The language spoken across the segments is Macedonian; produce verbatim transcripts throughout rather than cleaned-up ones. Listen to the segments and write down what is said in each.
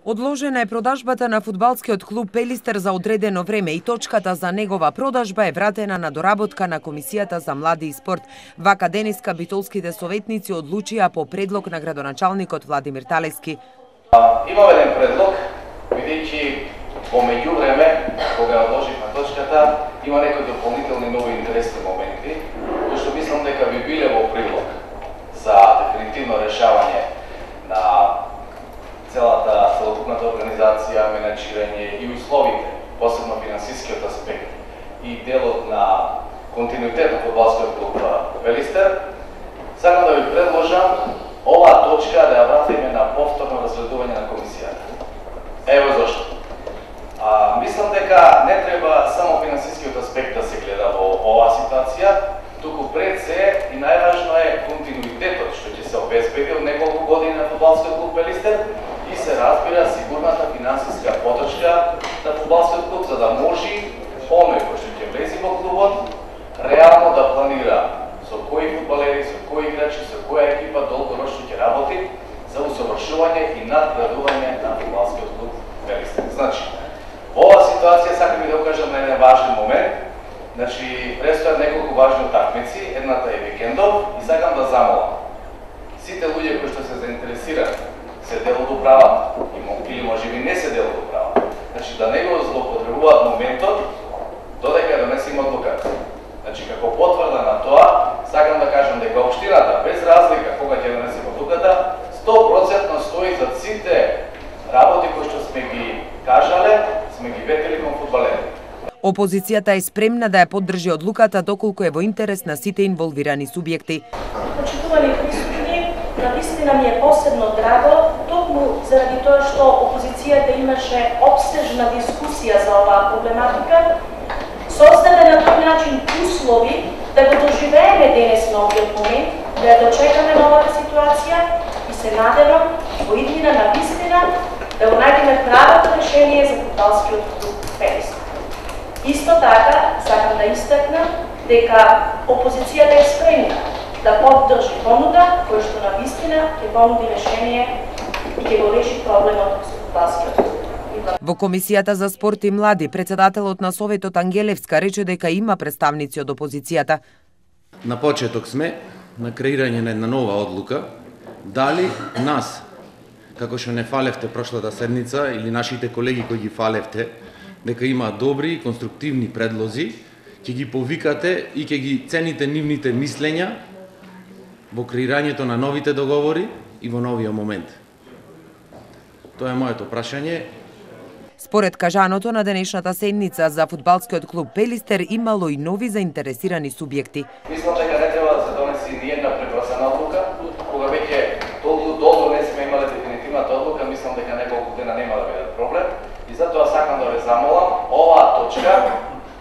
Одложена е продажбата на фудбалскиот клуб Пелистер за одредено време и точката за негова продажба е вратена на доработка на Комисијата за млади и спорт. Вака денеска битолските советници одлучија по предлог на градоначалникот Владимир Талевски. Имаме еден предлог, бидејќи во меѓувреме, кога одложивме точката, има некои дополнителни нови интересни моменти, кои што мислам дека би биле во прилог за дефинитивно решавање на целата целокупната организација, менеджирање и условите, посебно финансискиот аспект и делот на континуитет на фудбалскиот клуб Пелистер, сакам да ви предложам оваа точка да ја вратиме на повторно разгледување на комисијата. Ево зашто. А, мислам дека не треба само финансискиот аспект да се гледа во оваа ситуација, туку пред се и најважно е континуитетот што ќе се обезбеди од неколку години на фудбалскиот клуб Пелистер и се разбира сигурната финансиска поддршка на фудбалскиот клуб за да може оној кој што ќе влезе во клубот реално да планира со кои фудбалери, со кои играчи, со која екипа долгорочно ќе работи за усовршување и надградување на фудбалскиот клуб Пелистер. Значи, во оваа ситуација сакам да укажам на еден важен момент. Значи, престојат неколку важни утакмици, едната е викендов и сакам да замолам сите луѓе кои што се заинтересирани, се дел од управата или можеби не се дел од управата. Значи, да не го злоупотребуваат моментот додека донесеме одлуката. Значи, како потврда на тоа, сакам да кажам дека општината, без разлика кога ќе донесеме одлуката, сто проценти стои за сите работи кои што сме ги кажале, сме ги ветели кон фудбалерите. Опозицијата е спремна да ја поддржи одлуката доколку е во интерес на сите инволвирани субјекти. Почитувани присутни, навистина ми е посебно драго, токму заради тоа што опозицијата имаше обстежна дискусија за оваа проблематика, создаде на тој начин услови да го доживееме денес на овиот момент, да ја дочекаме новата ситуација и се надевам во иднина на вистина да го најдеме правото решение за фудбалскиот клуб Пелистер. Исто така, сакам да истакнам дека опозицијата е спремна да поддржи понуда кој што на вистина ќе понуди решение и ќе го реши проблемот со фудбалскиот клуб. Во Комисијата за спорт и млади, председателот на Советот Ангелевска рече дека има представници од опозицијата. На почеток сме на креирање на една нова одлука, дали нас, како што не фалевте прошлата седница, или нашите колеги кои ги фалевте, дека има добри и конструктивни предлози, ќе ги повикате и ќе ги цените нивните мислења во креирањето на новите договори и во новиот момент. Тоа е моето прашање. Според кажаното на денешната седница за фудбалскиот клуб Пелистер имало и нови заинтересирани субјекти. Мислам дека не треба да се донеси ни една пребрзана одлука, кога веќе толку долго не сме имале дефинитивната одлука, мислам дека неколку дена нема да биде проблем. И затоа сакам да ве замолам оваа точка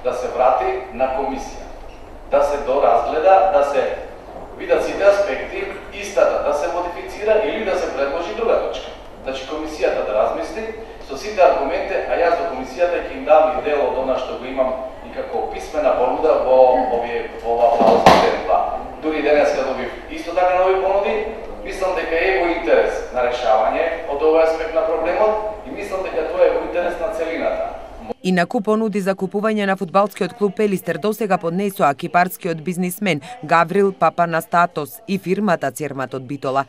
да се врати на комисија, да се доразгледа, да се видат сите аспекти, истата да се модифицира или да се предложи друга точка. Значи комисијата да размисли со сите аргументи, а јас до комисијата ќе им дам и дел од она што го имам и како писмена понуда во овие во оваа пауза ден два. Дури денеска добив исто така нови понуди. Мислам дека е во интерес на решавање од овој аспект на проблемот и мислам дека тоа е во интерес на целината. Инаку понуди за купување на фудбалскиот клуб Пелистер досега поднесоа кипарскиот бизнисмен Гаврил Папанастатос и фирмата Цермат од Битола.